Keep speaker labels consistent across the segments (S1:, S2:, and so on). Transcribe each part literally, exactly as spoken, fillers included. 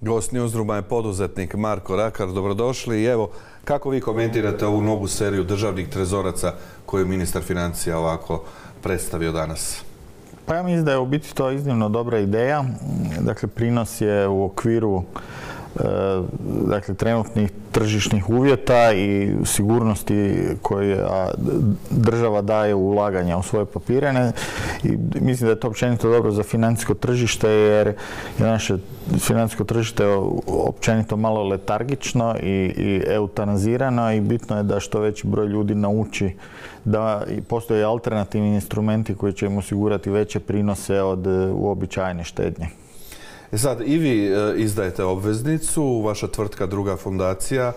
S1: Gost Newsrooma je poduzetnik Marko Rakar. Dobrodošli. I evo, kako vi komentirate ovu novu seriju državnih trezoraca koju je ministar financija ovako predstavio danas?
S2: Pa ja mislim da je u biti to iznimno dobra ideja. Dakle, prinos je u okviru dakle, trenutnih tržišnih uvjeta i sigurnosti koje država daje u ulaganja u svoje papire. I mislim da je to općenito dobro za financijsko tržište, jer je naše financijsko tržište općenito malo letargično i, i eutanazirano i bitno je da što veći broj ljudi nauči da postoje alternativni instrumenti koji će im osigurati veće prinose od uobičajene štednje.
S1: E sad, i vi izdajete obveznicu, vaša tvrtka Druga fundacija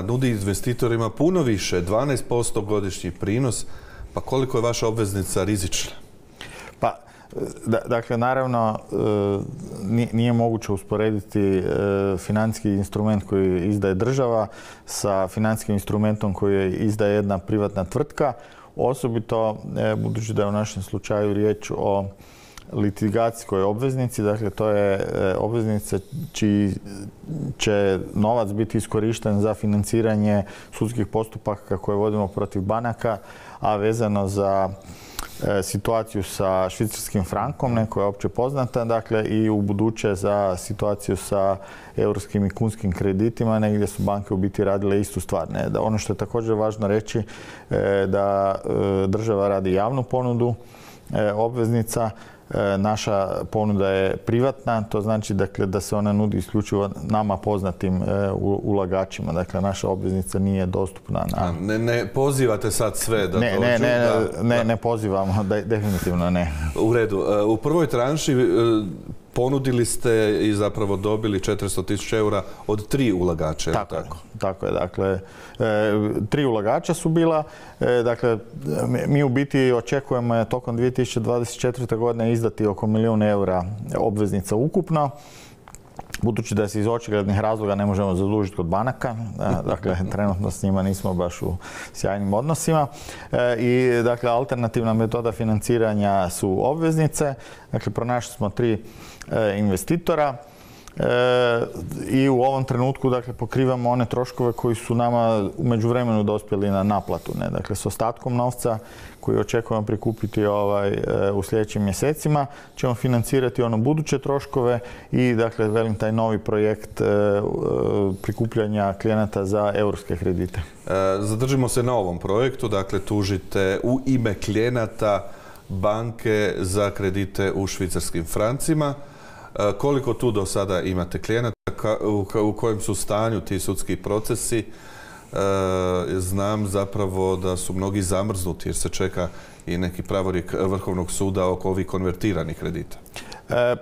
S1: nudi investitorima puno više, dvanaest posto godišnji prinos. Pa koliko je vaša obveznica rizična?
S2: Pa, dakle, naravno, nije moguće usporediti financijski instrument koji izdaje država sa financijskim instrumentom koji izdaje jedna privatna tvrtka. Osobito, budući da je u našem slučaju riječ o litigacijskoj obveznici, dakle to je obveznica čiji će novac biti iskorišten za financiranje sudskih postupaka koje vodimo protiv banaka, a vezano za situaciju sa švicarskim frankom, ne, koja je opće poznata, dakle i u buduće za situaciju sa europskim i kunskim kreditima, negdje su banke u biti radile istu stvar. Ne. Da ono što je također važno reći, da država radi javnu ponudu obveznica. Naša ponuda je privatna, to znači dakle, da se ona nudi isključivo nama poznatim ulagačima. Dakle, naša obveznica nije dostupna na...
S1: Ne, ne pozivate sad sve da
S2: ne,
S1: dođu?
S2: Ne, ne,
S1: da,
S2: ne,
S1: da.
S2: ne pozivamo, da, definitivno ne.
S1: U redu. U prvoj tranši ponudili ste i zapravo dobili četiristo tisuća eura od tri ulagača.
S2: Tako, tako? Je, tako je. Dakle, e, tri ulagača su bila. E, dakle, mi u biti očekujemo tokom dvije tisuće dvadeset četvrte. godine izdati oko milijun eura obveznica ukupno. Budući da se iz očiglednih razloga ne možemo zadužiti kod banaka, dakle, trenutno s njima nismo baš u sjajnim odnosima. E, I, dakle, alternativna metoda financiranja su obveznice. Dakle, pronašli smo tri e, investitora. E, I u ovom trenutku, dakle, pokrivamo one troškove koji su nama u međuvremenu dospjeli na naplatu. Ne? Dakle, s ostatkom novca koji očekujemo prikupiti ovaj, e, u sljedećim mjesecima ćemo financirati ono buduće troškove i, dakle, velim, taj novi projekt e, e, prikupljanja klijenata za europske kredite.
S1: E, zadržimo se na ovom projektu. Dakle, tužite u ime klijenata banke za kredite u švicarskim francima. Koliko tu do sada imate klijenata, u kojem su stanju ti sudski procesi? Znam zapravo da su mnogi zamrznuti jer se čeka i neki pravorijek Vrhovnog suda oko ovih konvertiranih kredita.
S2: E,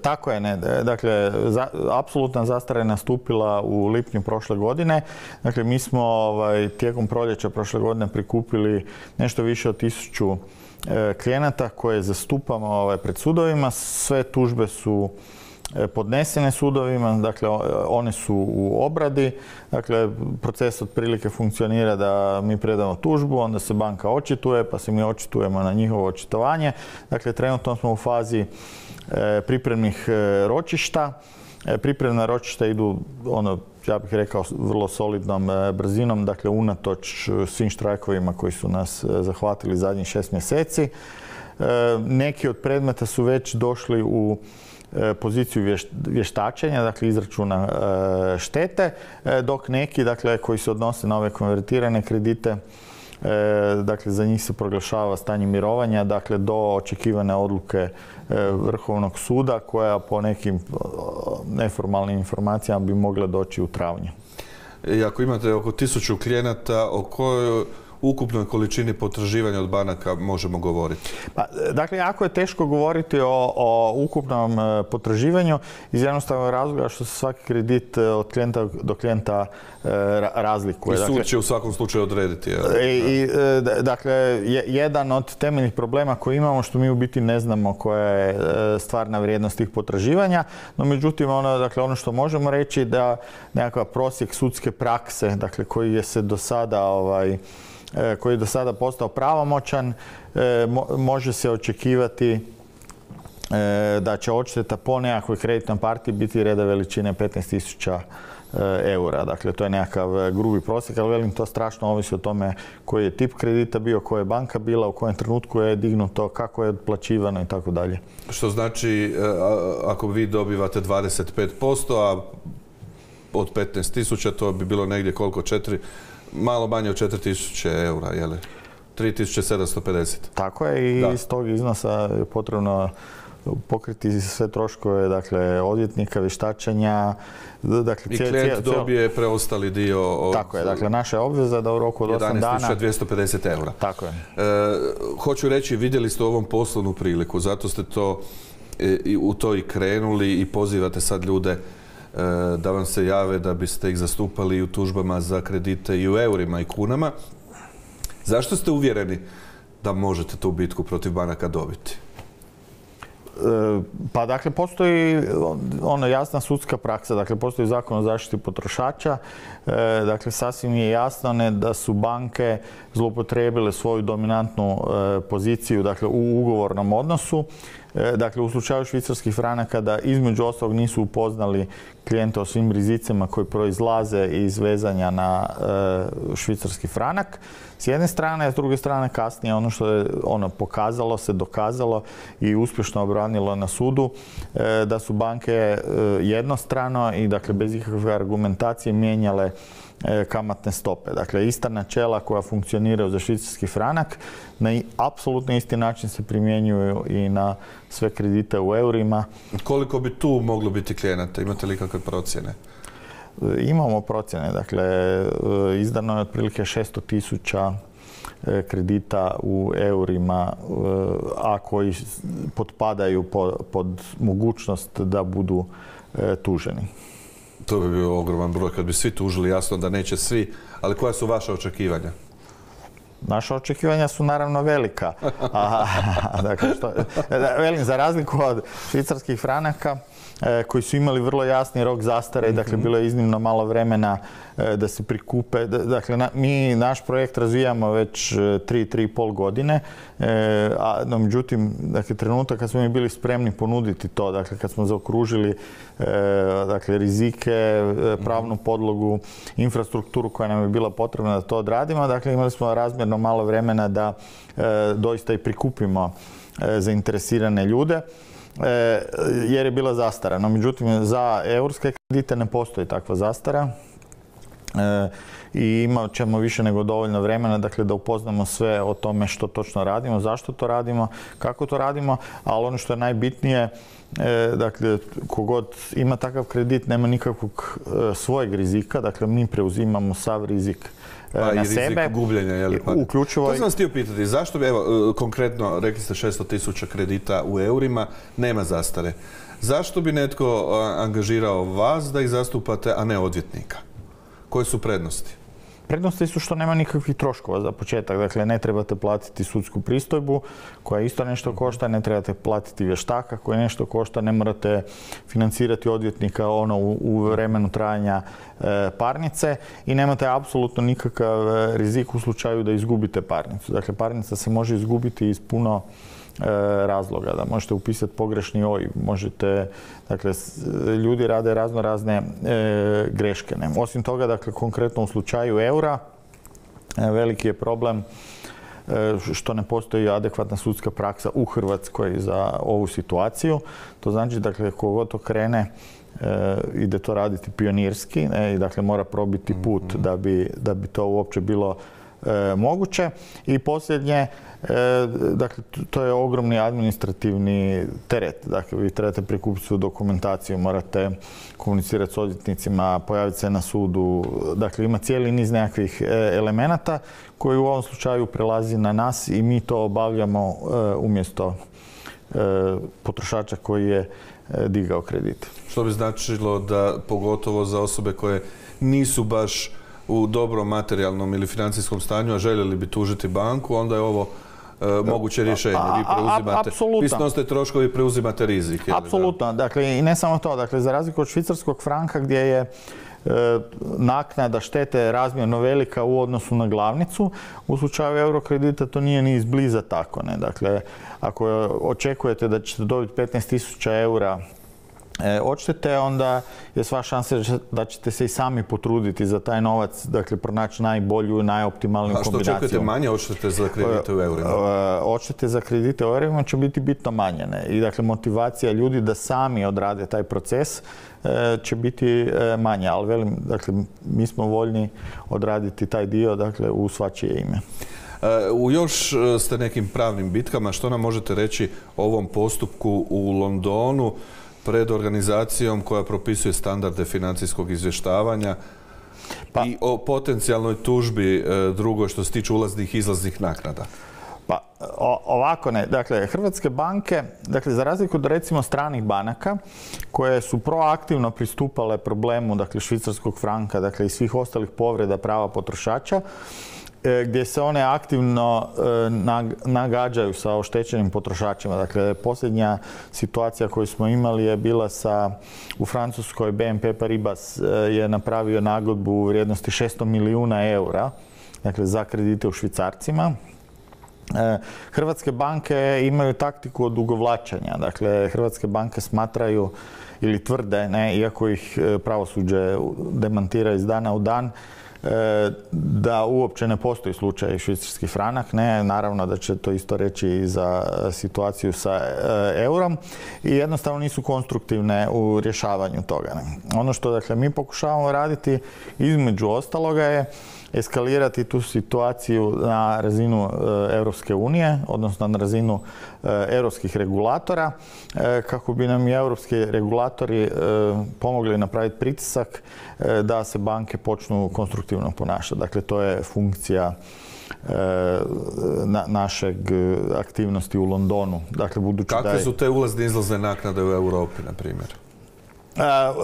S2: tako je, ne. Dakle, za, apsolutna zastara je nastupila u lipnju prošle godine. Dakle, mi smo ovaj, tijekom proljeća prošle godine prikupili nešto više od tisuću klijenata koje zastupamo ovaj, pred sudovima. Sve tužbe su podnesene sudovima, dakle one su u obradi. Dakle, proces otprilike funkcionira da mi predamo tužbu, onda se banka očituje, pa se mi očitujemo na njihovo očitovanje. Dakle, trenutno smo u fazi e, pripremnih e, ročišta. E, pripremna ročišta idu, ono, ja bih rekao, vrlo solidnom e, brzinom, dakle, unatoč svim štrajkovima koji su nas e, zahvatili zadnjih šest mjeseci. E, neki od predmeta su već došli u poziciju vještačenja, dakle izračuna štete, dok neki, dakle, koji se odnose na ove konvertirane kredite, dakle, za njih se proglašava stanje mirovanja, dakle, do očekivane odluke Vrhovnog suda, koja po nekim neformalnim informacijama bi mogla doći u travnju.
S1: I ako imate oko tisuću klijenata, o kojoj ukupnoj količini potraživanja od banaka možemo govoriti?
S2: Pa, dakle, jako je teško govoriti o, o ukupnom potraživanju iz jednostavnog razloga što se svaki kredit od klijenta do klijenta razlikuje.
S1: I sud će u svakom slučaju odrediti.
S2: I, i, dakle, jedan od temeljnih problema koji imamo što mi u biti ne znamo koja je stvarna vrijednost tih potraživanja, no međutim ono, dakle, ono što možemo reći da nekakav prosjek sudske prakse, dakle, koji je se do sada ovaj, koji je do sada postao pravomoćan, može se očekivati da će odšteta po nekakvoj kreditnoj partiji biti reda veličine petnaest tisuća eura. Dakle, to je nekakav grubi prosjek, ali velim, to strašno ovisi o tome koji je tip kredita bio, koja je banka bila, u kojem trenutku je dignuto, kako je otplaćivano i tako dalje.
S1: Što znači, ako vi dobivate dvadeset pet posto, a od petnaest tisuća, to bi bilo negdje koliko? četiri, malo manje od četiri tisuće eura, je li? tri tisuće sedamsto pedeset.
S2: Tako je, i da. Iz tog iznosa je potrebno pokriti sve troškove, dakle, odvjetnika, vještačenja. Dakle,
S1: I klijent cijel, cijel... dobije preostali dio od...
S2: Tako je, dakle, naša je obveza da u roku od osam dana...
S1: jedanaest tisuća dvjesto pedeset eura.
S2: Tako je.
S1: E, hoću reći, vidjeli ste ovom poslovnu priliku, zato ste to i u to i krenuli i pozivate sad ljude da vam se jave da biste ih zastupali u tužbama za kredite i u eurima i kunama. Zašto ste uvjereni da možete tu bitku protiv banaka dobiti?
S2: Pa dakle, postoji ono jasna sudska praksa, dakle postoji Zakon o zaštiti potrošača, dakle sasvim je jasno ne, da su banke zloupotrijebile svoju dominantnu poziciju, dakle u ugovornom odnosu. Dakle, u slučaju švicarskih franaka da između ostalog nisu upoznali klijenta o svim rizicima koji proizlaze iz vezanja na e, švicarski franak. S jedne strane, a s druge strane kasnije ono što je ono pokazalo se, dokazalo i uspješno obranilo na sudu, e, da su banke e, jednostrano i dakle bez ikakve argumentacije mijenjale kamatne stope. Dakle, ista načela koja funkcioniraju za švicarski franak na apsolutno isti način se primjenjuju i na sve kredite u eurima.
S1: Koliko bi tu moglo biti klijenata? Imate li kakve procjene?
S2: Imamo procjene. Dakle, izdano je otprilike šesto tisuća kredita u eurima, a koji potpadaju pod mogućnost da budu tuženi.
S1: To bi bio ogroman broj kad bi svi tužili, jasno da neće svi, ali koja su vaša očekivanja?
S2: Naša očekivanja su naravno velika. A, dakle, što, velim, za razliku od švicarskih franaka, koji su imali vrlo jasni rok zastare, dakle bilo je iznimno malo vremena da se prikupe. Dakle, na, mi naš projekt razvijamo već tri, tri i pol godine, a no, međutim, dakle, trenutak kad smo mi bili spremni ponuditi to, dakle, kad smo zaokružili dakle, rizike, pravnu podlogu, infrastrukturu koja nam je bila potrebna da to odradimo, dakle, imali smo razmjerno malo vremena da doista i prikupimo zainteresirane ljude, jer je bila zastara. No, međutim, za eurske kredite ne postoji takva zastara i imat ćemo više nego dovoljno vremena, dakle, da upoznamo sve o tome što točno radimo, zašto to radimo, kako to radimo, ali ono što je najbitnije, dakle, kogod ima takav kredit nema nikakvog svojeg rizika, dakle, mi preuzimamo sav rizik
S1: pa
S2: na
S1: i rizik
S2: sebe.
S1: gubljenja, je li pa?
S2: Uključivo...
S1: To sam vas htio pitati, zašto bi, evo, konkretno, rekli ste šesto tisuća kredita u eurima, nema zastare. Zašto bi netko angažirao vas da ih zastupate, a ne odvjetnika? Koje su prednosti?
S2: Prednosti su što nema nikakvih troškova za početak. Dakle, ne trebate platiti sudsku pristojbu koja isto nešto košta, ne trebate platiti vještaka koji nešto košta, ne morate financirati odvjetnika ono u, u vremenu trajanja e, parnice i nemate apsolutno nikakav rizik u slučaju da izgubite parnicu. Dakle, parnica se može izgubiti iz puno razloga, da možete upisati pogrešni O I B, možete, dakle, ljudi rade razno razne e, greške. Ne? Osim toga, dakle, konkretno u slučaju eura, e, veliki je problem e, što ne postoji adekvatna sudska praksa u Hrvatskoj za ovu situaciju. To znači, dakle, kogod to krene e, ide to raditi pionirski, ne? I dakle, mora probiti put da bi, da bi to uopće bilo E, moguće. I posljednje, e, dakle, to je ogromni administrativni teret. Dakle, vi trebate prikupiti svu dokumentaciju, morate komunicirati s odvjetnicima, pojaviti se na sudu. Dakle, ima cijeli niz nekakvih e, elemenata koji u ovom slučaju prelazi na nas i mi to obavljamo e, umjesto e, potrošača koji je e, digao kredit.
S1: Što bi značilo da, pogotovo za osobe koje nisu baš u dobrom materijalnom ili financijskom stanju, a željeli bi tužiti banku, onda je ovo e, moguće rješenje. Vi preuzimate, vi snosite troškovi i preuzimate rizik.
S2: Apsolutno. Dakle, i ne samo to. Dakle, za razliku od švicarskog franka gdje je naknada štete je razmjerno velika u odnosu na glavnicu. U slučaju eurokredita to nije ni izbliza tako. Ne? Dakle, ako očekujete da ćete dobiti petnaest tisuća eura odštete, onda je sva šansa da ćete se i sami potruditi za taj novac, dakle, pronaći najbolju, najoptimalniju kombinaciju.
S1: A što očekujete manje odštete za kredite u eurima?
S2: Odštete za kredite u eurima će biti bitno manje. Ne? I dakle, motivacija ljudi da sami odrade taj proces će biti manja. Ali velim, dakle, mi smo voljni odraditi taj dio, dakle, u svačije ime.
S1: U još ste nekim pravnim bitkama. Što nam možete reći o ovom postupku u Londonu pred organizacijom koja propisuje standarde financijskog izvještavanja pa, i o potencijalnoj tužbi drugoj što se tiče ulaznih i izlaznih naknada?
S2: Pa o, ovako ne. Dakle, hrvatske banke, dakle, za razliku od recimo stranih banaka koje su proaktivno pristupale problemu, dakle, švicarskog franka, dakle, i svih ostalih povreda prava potrošača, gdje se one aktivno nagađaju sa oštećenim potrošačima. Dakle, posljednja situacija koju smo imali je bila sa, u Francuskoj B N P Paribas je napravio nagodbu u vrijednosti šesto milijuna eura, dakle, za kredite u švicarcima. Hrvatske banke imaju taktiku odugovlačenja. Dakle, hrvatske banke smatraju ili tvrde, ne, iako ih pravosuđe demantira iz dana u dan, da uopće ne postoji slučaj švicarski franak. Ne, naravno da će to isto reći i za situaciju sa eurom i jednostavno nisu konstruktivne u rješavanju toga. Ne. Ono što, dakle, mi pokušavamo raditi između ostaloga je eskalirati tu situaciju na razinu Europske unije, odnosno na razinu europskih regulatora, kako bi nam i europski regulatori pomogli napraviti pritisak da se banke počnu konstruktivno ponašati. Dakle, to je funkcija na, našeg aktivnosti u Londonu. Dakle, budući
S1: Kakve
S2: da je,
S1: su te ulazne i izlazne naknade u Europi, na primjer?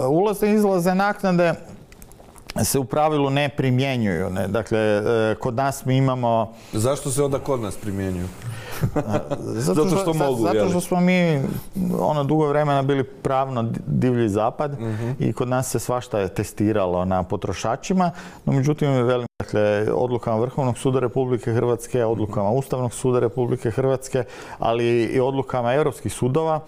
S2: Ulazne i izlazne naknade se u pravilu ne primjenjuju. Ne? Dakle, kod nas mi imamo...
S1: Zašto se onda kod nas primjenjuju?
S2: Zato što, zato što mogu, Zato što smo mi ono dugo vremena bili pravno divlji zapad uh-huh. i kod nas se svašta je testiralo na potrošačima, no međutim, velim, dakle, odlukama Vrhovnog suda Republike Hrvatske, odlukama Ustavnog suda Republike Hrvatske, ali i odlukama europskih sudova,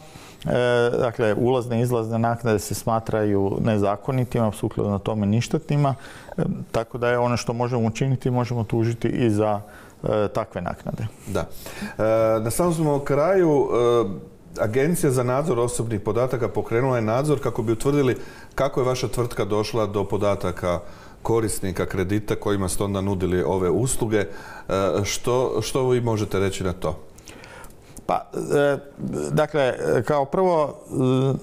S2: E, dakle, ulazne i izlazne naknade se smatraju nezakonitima, sukladno tome ništetnima, e, tako da je ono što možemo učiniti, možemo tužiti i za e, takve naknade.
S1: Da. E, na samom smo kraju, e, Agencija za nadzor osobnih podataka pokrenula je nadzor kako bi utvrdili kako je vaša tvrtka došla do podataka korisnika kredita kojima ste onda nudili ove usluge. E, što, što vi možete reći na to?
S2: Pa, e, dakle, kao prvo,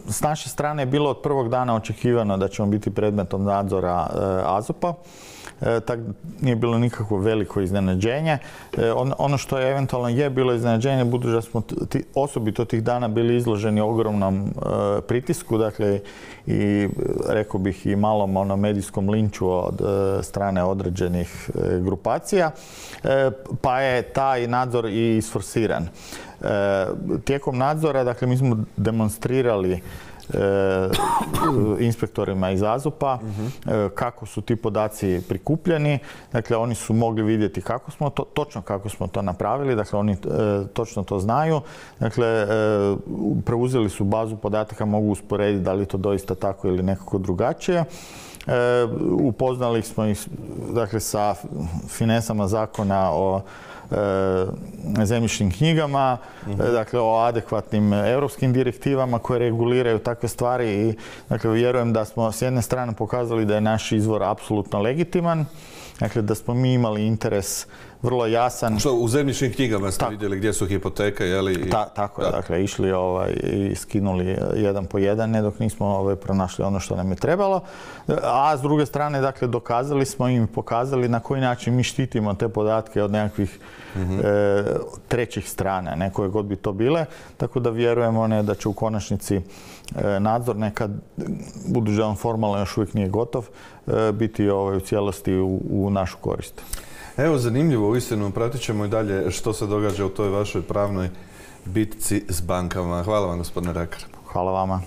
S2: s naše strane je bilo od prvog dana očekivano da ćemo biti predmetom nadzora e, A Z O P-a. E, tak nije bilo nikakvo veliko iznenađenje. E, on, ono što je eventualno je bilo iznenađenje, budući da smo ti, osobito tih dana bili izloženi ogromnom e, pritisku, dakle, i rekao bih i malom ono, medijskom linču od e, strane određenih e, grupacija, e, pa je taj nadzor i isforsiran. E, tijekom nadzora, dakle, mi smo demonstrirali E, inspektorima iz A Z O P-a uh-huh. e, kako su ti podaci prikupljeni. Dakle, oni su mogli vidjeti kako smo to, točno kako smo to napravili. Dakle, oni e, točno to znaju. Dakle, e, preuzeli su bazu podataka, mogu usporediti da li je to doista tako ili nekako drugačije. E, upoznali smo ih, dakle, sa finesama zakona o E, zemljišnim knjigama, uh-huh. dakle, o adekvatnim europskim direktivama koje reguliraju takve stvari i, dakle, vjerujem da smo s jedne strane pokazali da je naš izvor apsolutno legitiman, dakle, da smo mi imali interes vrlo jasan.
S1: Što, u zemljišnim knjigama ste Ta, vidjeli gdje su hipoteke, je li?
S2: Ta, tako je, da. Dakle, išli ovaj, i skinuli jedan po jedan, ne dok nismo ovaj, pronašli ono što nam je trebalo. A s druge strane, dakle, dokazali smo im, pokazali na koji način mi štitimo te podatke od nekakvih mm-hmm. e, trećih strana, ne, koje god bi to bile. Tako da vjerujemo ne, da će u konačnici e, nadzor nekad, budući da on formalno još uvijek nije gotov, e, biti ovaj, u cijelosti u, u našu korist. Evo,
S1: zanimljivo, uistinu, pratit ćemo i dalje što se događa u toj vašoj pravnoj bitci s bankama. Hvala vam, gospodine Rakar.
S2: Hvala vama.